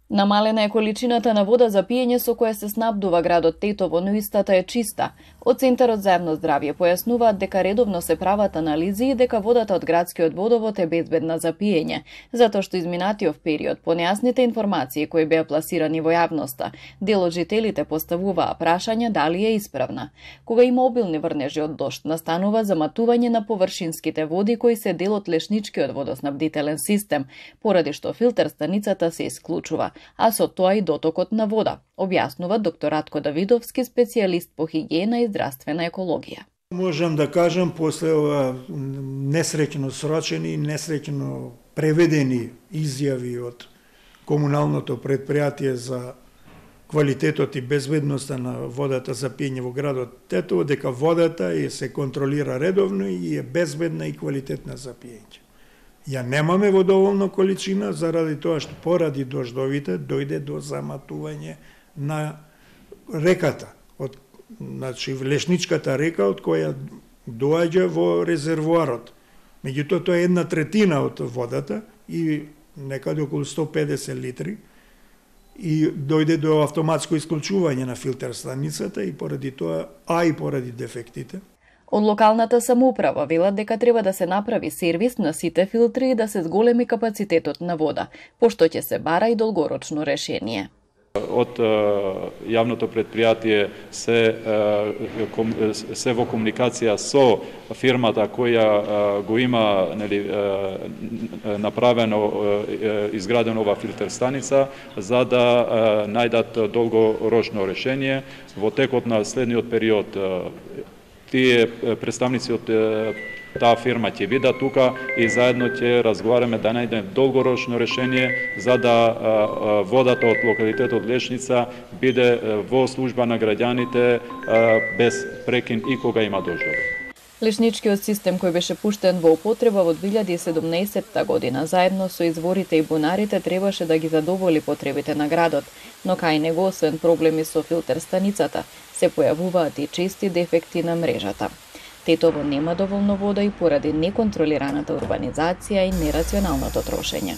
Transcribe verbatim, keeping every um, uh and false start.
Намалена е количината на вода за пиење со која се снабдува градот Тетово, но истата е чиста. Од Центарот за јавно здравје појаснуваат дека редовно се прават анализи и дека водата од градскиот водовод е безбедна за пиење, затоа што изминатиот период по нејасните информации кои беа пласирани во јавноста, дел од жителите поставуваа прашања дали е исправна. Кога има обилни врнежи од дожд, настанува заматување на површинските води кои се дел од лешничкиот водоснабдителен систем, поради што филтер станицата се исклучува, а со тоа и дотокот на вода, објаснува доктор Ратко Давидовски, специјалист по хигиена и здравствена екологија. Можам да кажам, после ова несреќно срочени и несреќно преведени изјави од комуналното предпријатие за квалитетот и безбедноста на водата за пиење во градот Тетово, дека водата е се контролира редовно и е безбедна и квалитетна за пиење. Ја немаме во доволна количина, заради тоа што поради дождовите дојде до заматување на реката, од, значи Лешничката река од која доаѓа во резервоарот. Меѓутоа тоа е една третина од водата и некаде околу сто педесет литри и дојде до автоматско исклучување на филтер станицата и поради тоа, а и поради дефектите. Од локалната самоуправа велат дека треба да се направи сервис на сите филтри и да се зголеми капацитетот на вода, пошто ќе се бара и долгорочно решение. Од јавното предпријатие се, се во комуникација со фирмата која го има, нели, направено, изградено ова филтер станица, за да најдат долгорочно решение. Во текот на следниот период тие представници од таа фирма ќе бидат тука и заедно ќе разговараме да најдеме долгорочно решение за да водата од локалитетот Лешница биде во служба на граѓаните без прекин и кога има дождови. Лешничкиот систем кој беше пуштен во употреба во две илјади и седумнаесетта година заедно со изворите и бунарите требаше да ги задоволи потребите на градот, но кај него освен проблеми со филтер станицата се појавуваат и чести дефекти на мрежата. Тетово нема доволно вода и поради неконтролираната урбанизација и нерационалното трошење.